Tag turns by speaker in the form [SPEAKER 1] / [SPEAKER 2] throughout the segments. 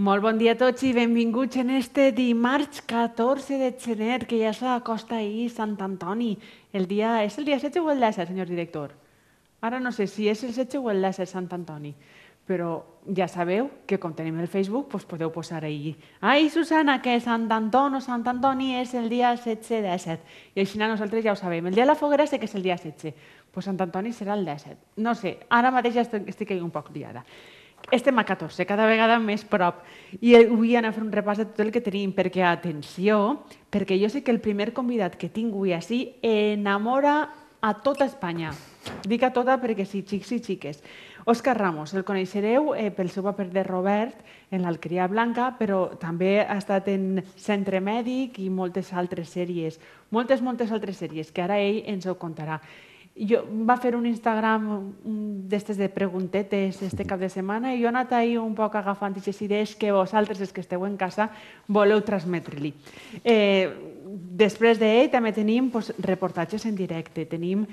[SPEAKER 1] Molt bon dia a tots i benvinguts en este dimarts 14 de gener, que ja s'acosta ahir Sant Antoni. És el dia 16 o el 17, senyor director? Ara no sé si és el 16 o el 17 Sant Antoni, però ja sabeu que com tenim el Facebook podeu posar ahir «Ai, Susana, que Sant Antoni o Sant Antoni és el dia 16-17». I així nosaltres ja ho sabem. El dia de la foguera sé que és el dia 16, doncs Sant Antoni serà el 17. No sé, ara mateix ja estic un poc liada. Estem a 14, cada vegada més prop. I avui anem a fer un repàs de tot el que tenim, perquè, atenció, perquè jo sé que el primer convidat que tinc avui així enamora a tota Espanya. Dic a tota perquè sí, xics i xiques. Òscar Ramos, el coneixereu pel seu paper de Robert en l'Alqueria Blanca, però també ha estat en Centre Mèdic i moltes altres sèries. Moltes altres sèries, que ara ell ens ho contarà. Va fer un Instagram d'estes de preguntetes este cap de setmana i jo he anat ahir un poc agafant aquestes idees que vosaltres, els que esteu en casa, voleu transmetre-li. Després d'ell també tenim reportatges en directe, tenim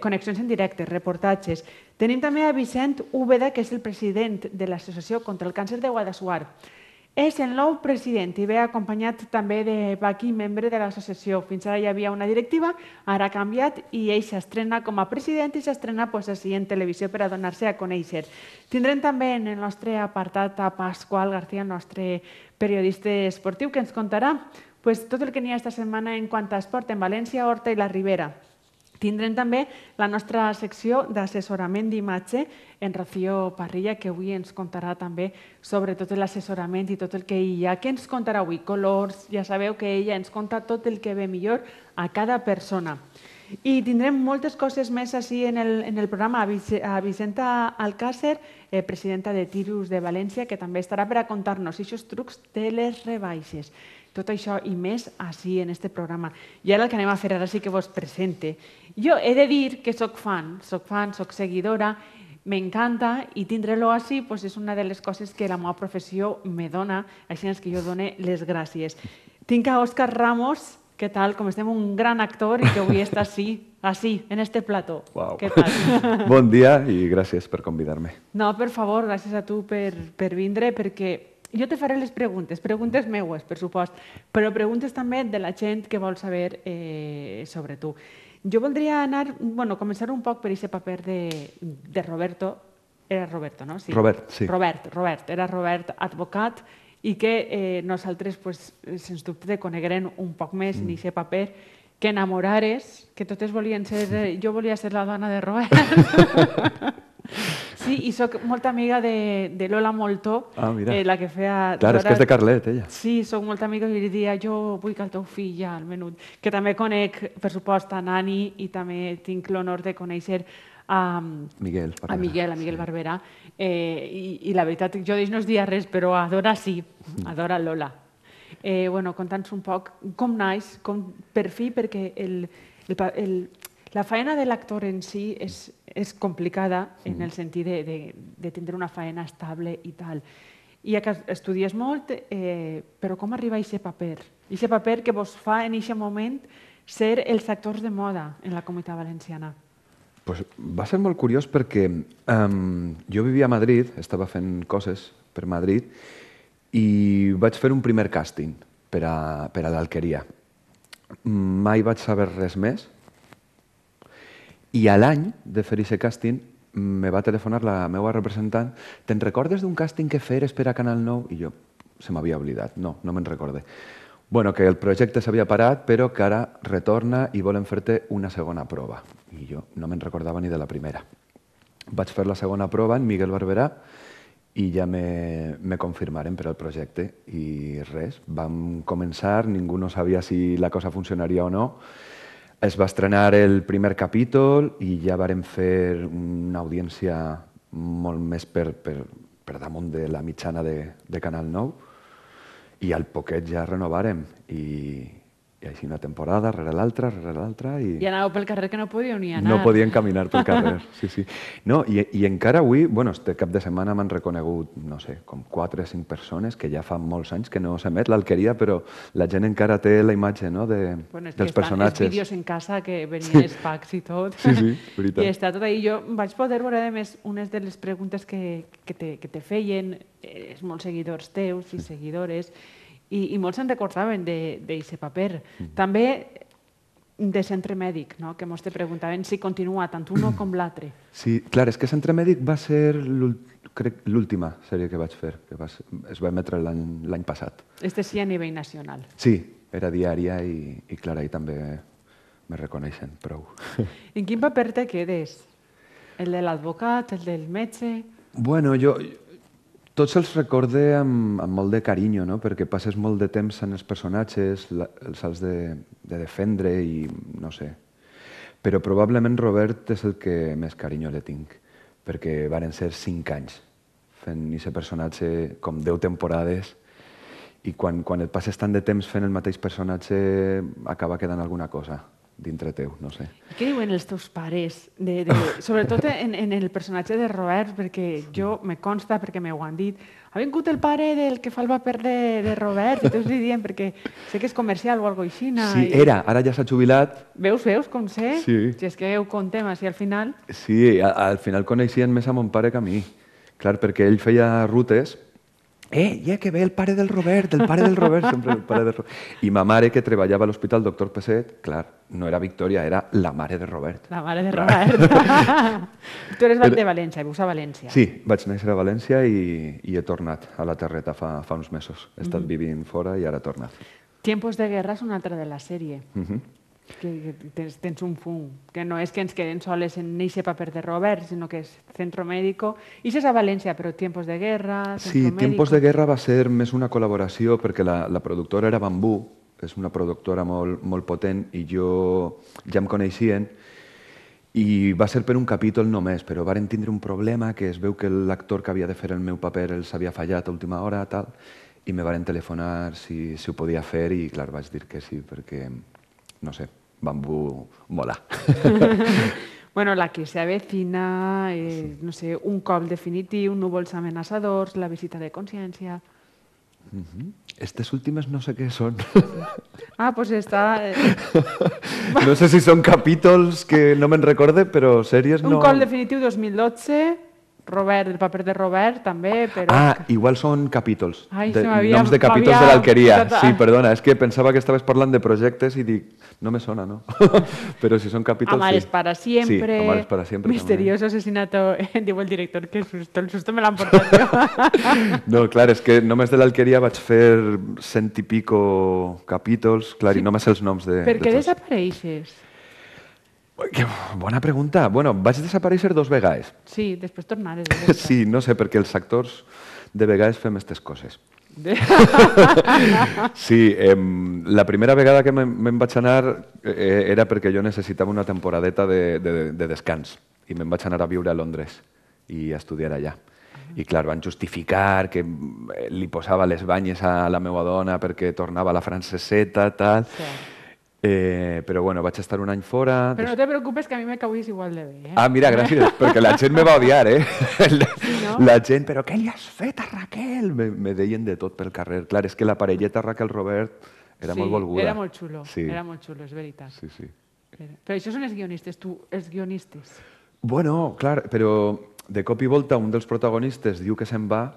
[SPEAKER 1] connexions en directe, reportatges. Tenim també a Vicent Úbeda, que és el president de l'Associació contra el Càncer de Guadassuar. És el nou president i ve acompanyat també de Paqui, membre de l'associació. Fins ara hi havia una directiva, ara ha canviat i ell s'estrena com a president i s'estrena així en televisió per a donar-se a conèixer. Tindrem també en el nostre apartat a Pasqual García, el nostre periodista esportiu, que ens contarà tot el que n'hi ha esta setmana en quant a esport en València, Horta i la Ribera. Tindrem també la nostra secció d'assessorament d'imatge en Rocío Parrilla, que avui ens contarà també sobre tot l'assessorament i tot el que hi ha. Què ens contarà avui? Colors, ja sabeu que ella ens conta tot el que ve millor a cada persona. I tindrem moltes coses més així en el programa. A Vicenta Alcácer, presidenta de Tirus de València, que també estarà per a contar-nos aquests trucs de les rebaixes. Tot això i més així en aquest programa. I ara el que anem a fer ara sí que vos presente. Jo he de dir que soc fan, soc seguidora, m'encanta i tindre-lo així és una de les coses que la meva professió me dona, així és que jo done les gràcies. Tinc a Òscar Ramos, què tal? Com estem, un gran actor i que avui està així, en este plató. Què tal?
[SPEAKER 2] Bon dia i gràcies per convidar-me.
[SPEAKER 1] No, per favor, gràcies a tu per vindre, perquè jo te faré les preguntes meues, per supost, però preguntes també de la gent que vol saber sobre tu. Jo voldria començar un poc per aquest paper de Roberto. Era Roberto, no?
[SPEAKER 2] Robert, sí.
[SPEAKER 1] Robert. Era Robert, advocat, i que nosaltres, sens dubte, coneguerem un poc més en aquest paper, que enamorares, que totes volien ser... Jo volia ser la dona de Robert. Sí, i soc molt amiga de Lola Moltó, la que feia...
[SPEAKER 2] Clar, és que és de Carlet, ella.
[SPEAKER 1] Sí, soc molt amiga i li dia jo vull que el teu fill ja, al menut. Que també conec, per supost, a Nani i també tinc l'honor de conèixer a Miguel Barberà. I la veritat, jo d'ells no es dia res, però adora sí, adora Lola. Conta'ns un poc com naix, per fi, perquè la feina de l'actor en si és complicada en el sentit de tindre una feina estable i tal. I que estudies molt, però com arriba a aquest paper? Aquest paper que vos fa en aquest moment ser els actors de moda en la Comunitat Valenciana.
[SPEAKER 2] Va ser molt curiós perquè jo vivia a Madrid, estava fent coses per Madrid i vaig fer un primer càsting per a l'Alqueria. Mai vaig saber res més. I a l'any de fer aquest càsting me va telefonar la meva representant. Te'n recordes d'un càsting que feres per a Canal 9? I jo, se m'havia oblidat. No me'n recorde. Que el projecte s'havia parat, però que ara retorna i volen fer-te una segona prova. I jo no me'n recordava ni de la primera. Vaig fer la segona prova en Miguel Barberà i ja me confirmaren per al projecte. I res, vam començar, ningú no sabia si la cosa funcionaria o no. Es va estrenar el primer capítol i ja vàrem fer una audiència molt més per damunt de la mitjana de Canal 9 i al poquet ja renovàrem i I així una temporada, rere l'altra,
[SPEAKER 1] I anàveu pel carrer que no podíeu ni anar.
[SPEAKER 2] no podien caminar pel carrer. Sí, sí. No, i encara avui, bueno, este cap de setmana m'han reconegut, no sé, com 4 o 5 persones que ja fa molts anys que no s'emet l'Alqueria, però la gent encara té la imatge, no,
[SPEAKER 1] Bueno, és
[SPEAKER 2] dels
[SPEAKER 1] que
[SPEAKER 2] personatges.
[SPEAKER 1] els vídeos en casa que venien els packs i tot.
[SPEAKER 2] Sí, sí, veritat.
[SPEAKER 1] I està tot ahí. Jo vaig poder veure, a més, unes de les preguntes que te feien molts seguidors teus i seguidores, i molts se'n recordaven d'aquest paper. També de centre mèdic, no? Que mos te preguntaven si continua tant uno com l'altre.
[SPEAKER 2] Sí, clar, és que Centre Mèdic va ser l'última sèrie que vaig fer, que es va emetre l'any passat.
[SPEAKER 1] Este sí a nivell nacional.
[SPEAKER 2] Sí, era diària i clar, ahir també me reconeixen prou.
[SPEAKER 1] En quin paper te quedes? El de l'advocat, el del metge?
[SPEAKER 2] Bueno, jo tots els recorde amb molt de carinyo, no? Perquè passes molt de temps en els personatges, els has de defendre i no sé. Però probablement Robert és el que més carinyo le tinc, perquè varen ser 5 anys fent aquest personatge com 10 temporades i quan et passes tant de temps fent el mateix personatge acaba quedant alguna cosa dintre teu, no sé.
[SPEAKER 1] Què diuen els teus pares? Sobretot en el personatge de Robert, perquè jo me consta, perquè m'ho han dit, ha vingut el pare del que fa el paper de Robert, i tots li diuen, perquè sé que és comercial o alguna cosa així.
[SPEAKER 2] Sí, era, ara ja s'ha jubilat.
[SPEAKER 1] Veus com sé?
[SPEAKER 2] Sí.
[SPEAKER 1] Si és que ho contem així al final.
[SPEAKER 2] Sí, al final coneixien més a mon pare que a mi. Clar, perquè ell feia rutes. Que ve el pare del Robert, sempre el pare del Robert. I ma mare, que treballava a l'Hospital Doctor Pesset, clar, no era Victòria, era la mare de Robert.
[SPEAKER 1] La mare de Robert. Tu eres de València, vius a València.
[SPEAKER 2] Sí, vaig néixer a València i he tornat a la terreta fa uns mesos. He estat vivint fora i ara he tornat.
[SPEAKER 1] Tiempos de guerra és una altra de la sèrie. Que tens un fum, que no és que ens quedem soles en aquest paper de Robert, sinó que és Centro Médico. I és a València, però Tiempos de Guerra, Centro
[SPEAKER 2] Sí,
[SPEAKER 1] Médico...
[SPEAKER 2] Tiempos de Guerra va ser més una col·laboració perquè la productora era Bambú, és una productora molt potent i jo ja em coneixien i va ser per un capítol només, però varen tindre un problema que es veu que l'actor que havia de fer el meu paper els havia fallat a última hora tal, i me varen telefonar si ho podia fer i clar, vaig dir que sí perquè, no sé, Bambú mola.
[SPEAKER 1] Bueno, la que se avecina, no sé, un cop definitiu, núvols amenaçadors, la visita de consciència...
[SPEAKER 2] Estes últimes no sé què són.
[SPEAKER 1] Ah, doncs està...
[SPEAKER 2] No sé si són capítols que no me'n recorde, però sèries no...
[SPEAKER 1] Un cop definitiu 2012... Robert, el paper de Robert, també, però...
[SPEAKER 2] Igual són capítols.
[SPEAKER 1] Ai,
[SPEAKER 2] noms de capítols de l'Alqueria. Sí, perdona, és que pensava que estaves parlant de projectes i dic, no me sona, no? Però si són capítols, sí.
[SPEAKER 1] Amares para siempre.
[SPEAKER 2] Sí, Amares para siempre.
[SPEAKER 1] Misterioso asesinato, diu el director, que el susto me l'han portat jo.
[SPEAKER 2] No, clar, és que només de l'Alqueria vaig fer 100 i pico capítols, clar, i només els noms de...
[SPEAKER 1] Per què desapareixes?
[SPEAKER 2] Bona pregunta. Bueno, vaig desaparèixer 2 vegades.
[SPEAKER 1] Sí, després tornares.
[SPEAKER 2] Sí, no sé, perquè els actors de vegades fem aquestes coses. Sí, la primera vegada que me'n vaig anar era perquè jo necessitava una temporadeta de descans i me'n vaig anar a viure a Londres i a estudiar allà. I clar, van justificar que li posava les banyes a la meva dona perquè tornava a la franceseta, tal... Però bueno, vaig estar un any fora...
[SPEAKER 1] Però no te preocupes, que a mi me cauis igual de bé.
[SPEAKER 2] Ah, mira, gràcies, perquè la gent me va odiar, La gent, però què li has fet a Raquel? Me deien de tot pel carrer. Clar, és que la parelleta Raquel-Robert era molt volguda.
[SPEAKER 1] Era molt xulo, era molt xulo, és veritat.
[SPEAKER 2] Sí, sí.
[SPEAKER 1] Però això són els guionistes, els guionistes.
[SPEAKER 2] Bueno, clar, però de cop i volta un dels protagonistes diu que se'n va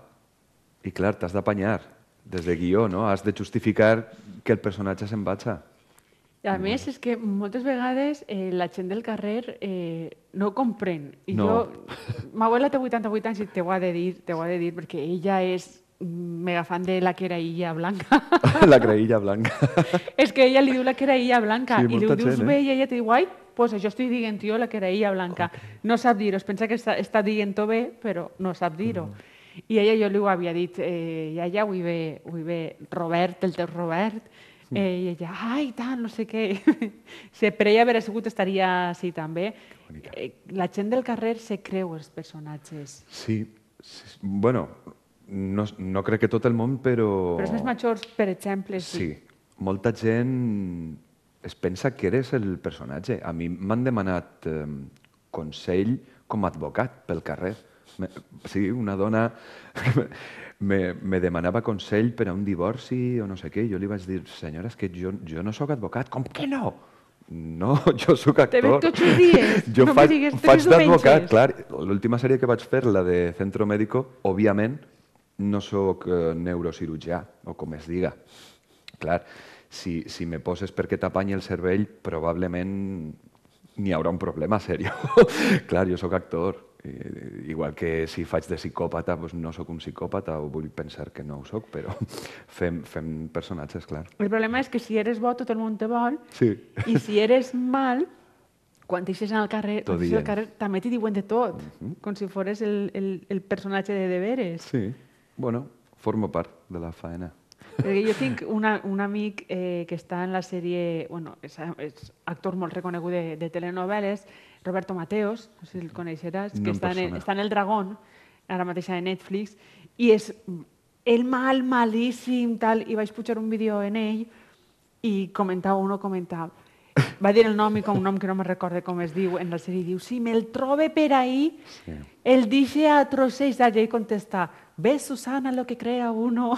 [SPEAKER 2] i clar, t'has d'apanyar des de guió, no? Has de justificar que el personatge se'n vagi.
[SPEAKER 1] A més, és que moltes vegades la gent del carrer no ho comprèn. I jo, ma abuela té 88 anys i t'ho ha de dir, perquè ella és mega fan de la queraïlla blanca.
[SPEAKER 2] La queraïlla blanca.
[SPEAKER 1] És que ella li diu la queraïlla blanca i li dius bé i ella te diu, ai, doncs això estic dient jo, la queraïlla blanca. No sap dir-ho, es pensa que està dient-ho bé, però no sap dir-ho. I ella jo li ho havia dit, iaia, avui ve Robert, el teu Robert, i ella, ai, tant, no sé què. Per ella haver sigut estaria així també. La gent del carrer se creu els personatges.
[SPEAKER 2] Sí, bueno, no crec que tot el món, però...
[SPEAKER 1] Però els més majors, per exemple,
[SPEAKER 2] sí. molta gent es pensa que eres el personatge. A mi m'han demanat consell com a advocat pel carrer. Sí, una dona me demanava consell per a un divorci o no sé què. Jo li vaig dir, senyora, és que jo no sóc advocat. Com que no? No, jo sóc actor.
[SPEAKER 1] Te veig tots els dies.
[SPEAKER 2] Jo
[SPEAKER 1] no me digues
[SPEAKER 2] faig d'advocat,
[SPEAKER 1] diumenges.
[SPEAKER 2] clar. L'última sèrie que vaig fer, la de Centro Médico, òbviament no sóc neurocirurgià, o com es diga. Clar, si me poses perquè t'apanyi el cervell, probablement n'hi haurà un problema seriós. Clar, jo sóc actor. Igual que si faig de psicòpata, doncs no sóc un psicòpata, o vull pensar que no ho sóc, però fem personatges, clar.
[SPEAKER 1] El problema és que si eres bo, tot el món te vol,
[SPEAKER 2] Sí.
[SPEAKER 1] i si eres mal, quan t'eixes al carrer, també t'hi diuen de tot, com si fores el personatge de deberes.
[SPEAKER 2] Sí, bueno, formo part de la faena.
[SPEAKER 1] Perquè jo tinc un amic que està en la sèrie, bueno, és actor molt reconegut de telenovel·les, Roberto Mateos, no sé si el coneixeràs, que està en El Dragón, ara mateix a Netflix, i és el malíssim, tal, i vaig pujar un vídeo en ell i comentava, va dir el nom i com un nom que no me recorde com es diu en la sèrie, diu, si me'l trobe per ahí, el dice a trosseig d'allà i contesta, ¿ves, Susana, lo que crea uno?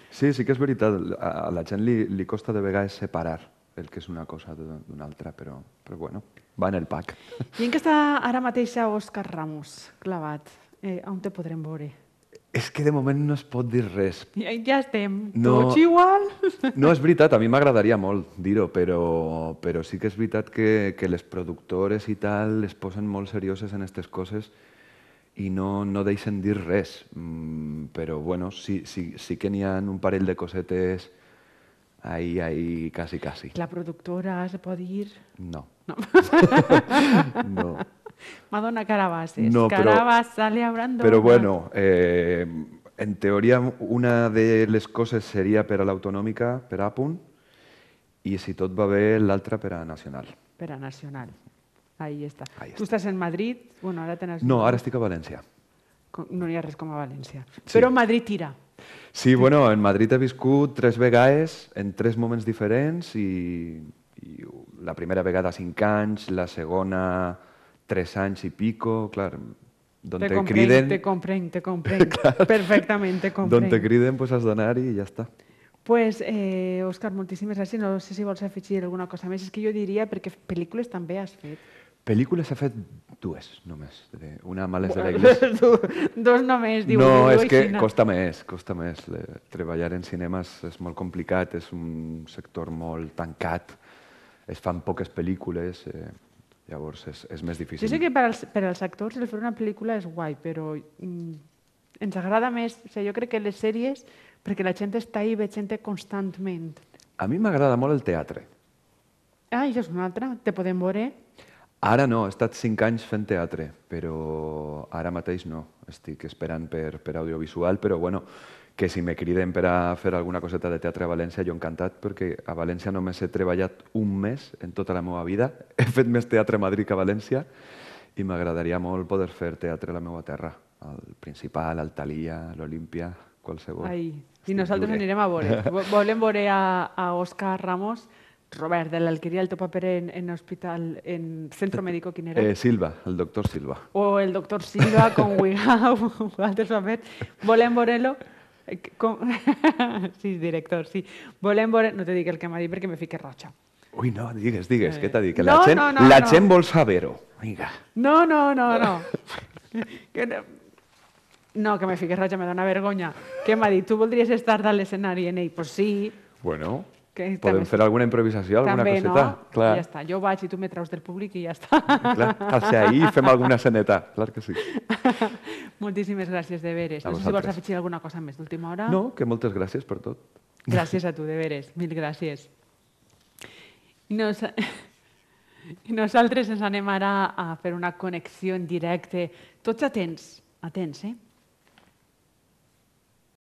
[SPEAKER 2] Sí, sí que és veritat. A la gent li costa de vegades separar el que és una cosa d'una altra, però bueno, va en el pack.
[SPEAKER 1] I en què està ara mateix Òscar Ramos clavat? On te podrem veure?
[SPEAKER 2] És que de moment no es pot dir res.
[SPEAKER 1] Ja estem, tots igual.
[SPEAKER 2] No, és veritat, a mi m'agradaria molt dir-ho, però sí que és veritat que les productores i tal es posen molt serioses en aquestes coses i no deixen dir res. Però bueno, sí que n'hi ha un parell de cosetes ahí, casi.
[SPEAKER 1] La productora se pot dir?
[SPEAKER 2] No.
[SPEAKER 1] No. Madonna Carabasses.
[SPEAKER 2] No,
[SPEAKER 1] Carabas sale hablando.
[SPEAKER 2] Però bueno, en teoria una de les coses seria per a l'autonòmica, per a Apunt, i si tot va bé l'altra per a Nacional.
[SPEAKER 1] Per a Nacional. Ahí està. Tu estàs en Madrid? Bueno, ara tens...
[SPEAKER 2] No, ara estic a València.
[SPEAKER 1] No hi ha res com a València. Però Madrid tira.
[SPEAKER 2] Sí, bueno, en Madrid he viscut 3 vegades, en 3 moments diferents, i la primera vegada 5 anys, la segona 3 anys i pico, clar, d'on te criden...
[SPEAKER 1] Te comprenc. Perfectament, te comprenc.
[SPEAKER 2] D'on te criden, pues has d'anar i ja està.
[SPEAKER 1] Pues, Òscar, moltíssimes gràcies. No sé si vols afegir alguna cosa més. És que jo diria, perquè pel·lícules també has fet.
[SPEAKER 2] Pel·lícules he fet 2, només. Una Males de la Iglesia.
[SPEAKER 1] 2 només, diu.
[SPEAKER 2] No, és que costa més. Treballar en cinema és molt complicat, és un sector molt tancat, es fan poques pel·lícules, llavors és més difícil.
[SPEAKER 1] Jo sé que per als actors el fer una pel·lícula és guai, però ens agrada més, jo crec que les sèries, perquè la gent està ahí veient-te constantment.
[SPEAKER 2] A mi m'agrada molt el teatre.
[SPEAKER 1] Ah, això és una altra, te podem veure?
[SPEAKER 2] Ara no, he estat 5 anys fent teatre, però ara mateix no. Estic esperant per audiovisual, però bueno, que si me criden per a fer alguna coseta de teatre a València, jo encantat, perquè a València només he treballat un mes en tota la meva vida. He fet més teatre a Madrid que a València i m'agradaria molt poder fer teatre a la meva terra, al Principal, al Thalia, a l'Olímpia, qualsevol.
[SPEAKER 1] I nosaltres anirem a veure. Volem veure a Òscar Ramos. Robert, de l'Alqueria, el teu paper en hospital, en centro médico, quin era?
[SPEAKER 2] Silva, el doctor Silva.
[SPEAKER 1] O el doctor Silva, con Wigau, altres papers. Volem veure-lo. Sí, director, sí. Volem veure... No te dic el que m'ha dit perquè me fique roja.
[SPEAKER 2] Ui, no, digues, què t'ha dit? Que la gent vol saber-ho. Vinga.
[SPEAKER 1] No. No, que me fique roja, me dona vergonya. Què m'ha dit? Tu voldries estar a l'escenari en ell? Pues sí.
[SPEAKER 2] Bueno... Podem fer alguna improvisació, alguna coseta?
[SPEAKER 1] També, no? Ja està. Jo vaig i tu me traus del públic i ja està.
[SPEAKER 2] Clar, al ser ahí fem alguna esceneta, clar que sí.
[SPEAKER 1] Moltíssimes gràcies, de veres. No sé si vols afegir alguna cosa més d'última hora.
[SPEAKER 2] No, que moltes gràcies per tot.
[SPEAKER 1] Gràcies a tu, de veres. Mil gràcies. I nosaltres ens anem ara a fer una connexió en directe. Tots atents, eh?